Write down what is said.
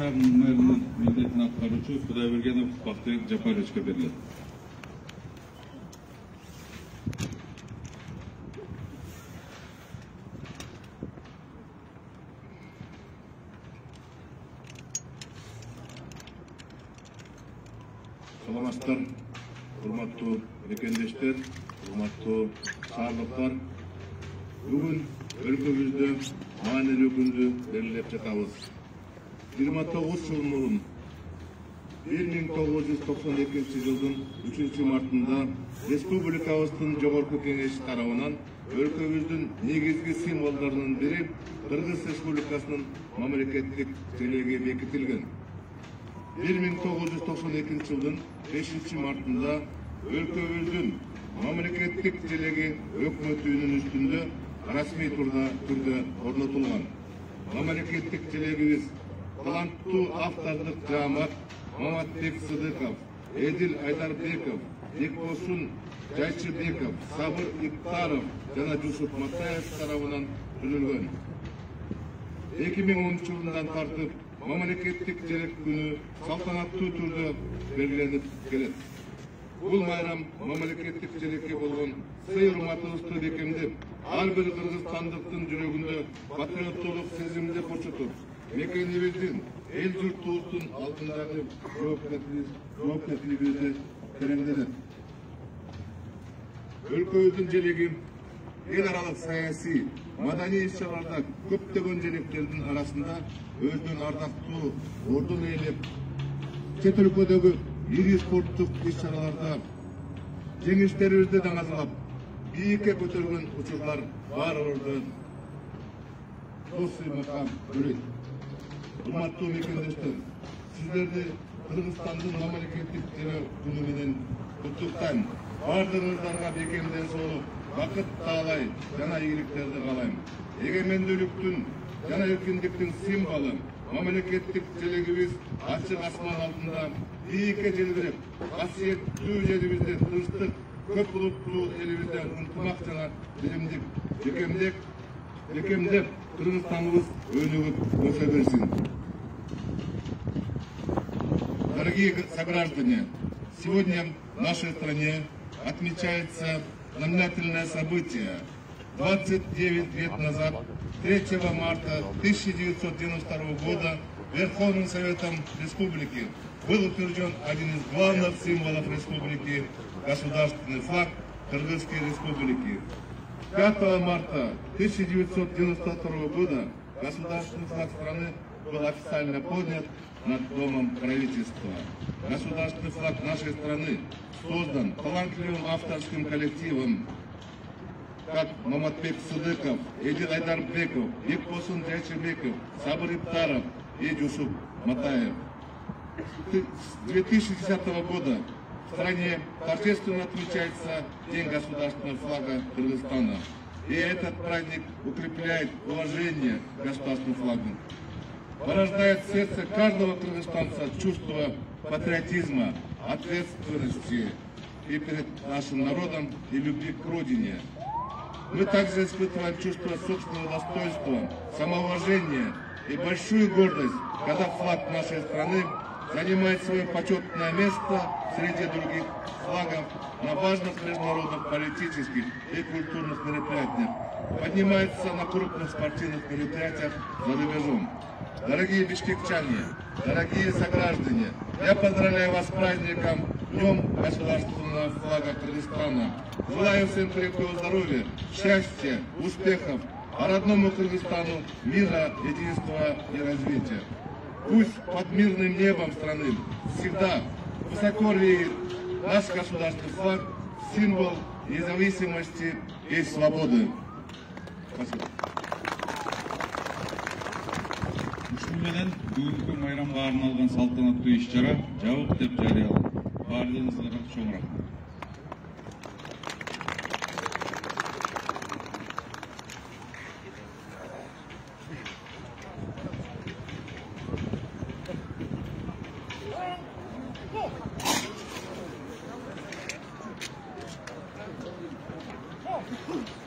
шаарынын мэринин милдетин аткаруучу Кудайбергенов Бактыбек Жапаровичке берилет. Саламатсыздар, урматтуу мекендештер, урматтуу шаардыктар. Бүгүн өлкөбүздө маанилүү күндү белгилеп жатабыз. 29 жыл мурун 1992 жылдын 3 мартында республикабыздын жогорку кеңеши тарабынан өлкөбүздүн негизги символдорунун бири Кыргыз Республикасынын мамлекеттик желеги бекитилген. 1992 жылдын 5 мартында өлкөбүздүн мамлекеттик желеги өкмөт үйүнүн үстүндө расмий түрдө орнотулган. Мамлекеттик желегибиз таланттуу автордук жаамат Маматбек Сыдыков, Эдил Айдарбеков, Бекбосун Жайчыбеков, Сабыр Иптаров жана Жусуп Матаев тарабынан түзүлгөн. 2010 жылынан тартып мамлекеттик желек күнү салтанаттуу түрдө белгиленип келет. Бул майрам мамлекеттик желекке болгон сый-урматыбызды бекемдеп, ар бир кыргызстандыктын жүрөгүндө патриоттуулук сезимди кочотуп, мекенибиздин, эл журтубуздун алдындагы жоопкерчилигибизди тереңдетет. Өлкөбүздүн желеги эл аралык саясий, маданий иш-чараларда көптөгөн желектердин арасында өзүнүн ардактуу ордун ээлеп, чет өлкөдөгү ири спорттук иш-чараларда жеңиштерибизди даңазалап, бийикке көтөргөн учурлар баарыбызды дос-ыймакка бөлөйт. Урматтуу мекендештер, сиздерди Кыргызстандын мамлекеттик желек күнү менен куттуктайм. Бардыгыңыздарга бекемден соолук, бакыт таалай жана ийгиликтерди каалайм. Эгемендүүлүктүн жана эркиндиктин символу мамлекеттик желегибиз ачык асман алдында бийикке желбиреп, касиеттүү жерибизде тынчтык, көп улуттуу элибизде ынтымак жана билимдик бекемдеп Кыргызстаныбыз өнүгүп өсө берсин. Дорогие сограждане, сегодня в нашей стране отмечается знаменательное событие. 29 лет назад, 3 марта 1992 года, Верховным Советом Республики был утвержден один из главных символов республики – государственный флаг Кыргызской Республики. 5 марта 1992 года государственный флаг страны был официально поднят над Домом правительства. Государственный флаг нашей страны создан талантливым авторским коллективом, как Маматбек Сыдыков, Эдил Айдарбеков, Бекбосун Жайчыбеков, Сабыр Иптаров и Жусуп Матаев. С 2010 года в стране торжественно отмечается День государственного флага Кыргызстана. И этот праздник укрепляет уважение к государственному флагу, порождает в сердце каждого кыргызстанца чувство патриотизма, ответственности и перед нашим народом, и любви к родине. Мы также испытываем чувство собственного достоинства, самоуважения и большую гордость, когда флаг нашей страны занимает свое почетное место среди других флагов на важных международных политических и культурных мероприятиях, поднимается на крупных спортивных мероприятиях за рубежом. Дорогие бишкекчане, дорогие сограждане, я поздравляю вас с праздником Днем государственного флага Кыргызстана. Желаю всем крепкого здоровья, счастья, успехов, а родному Кыргызстану мира, единства и развития. Пусть под мирным небом страны всегда высоко реет наш государственный флаг, символ независимости и свободы. Спасибо. Ушул менен бүгүнкү майрамга арналган салтанаттуу иш-чара жабык деп жарыяланды. Баардыгыңыздарга чоң рахмат. Oh!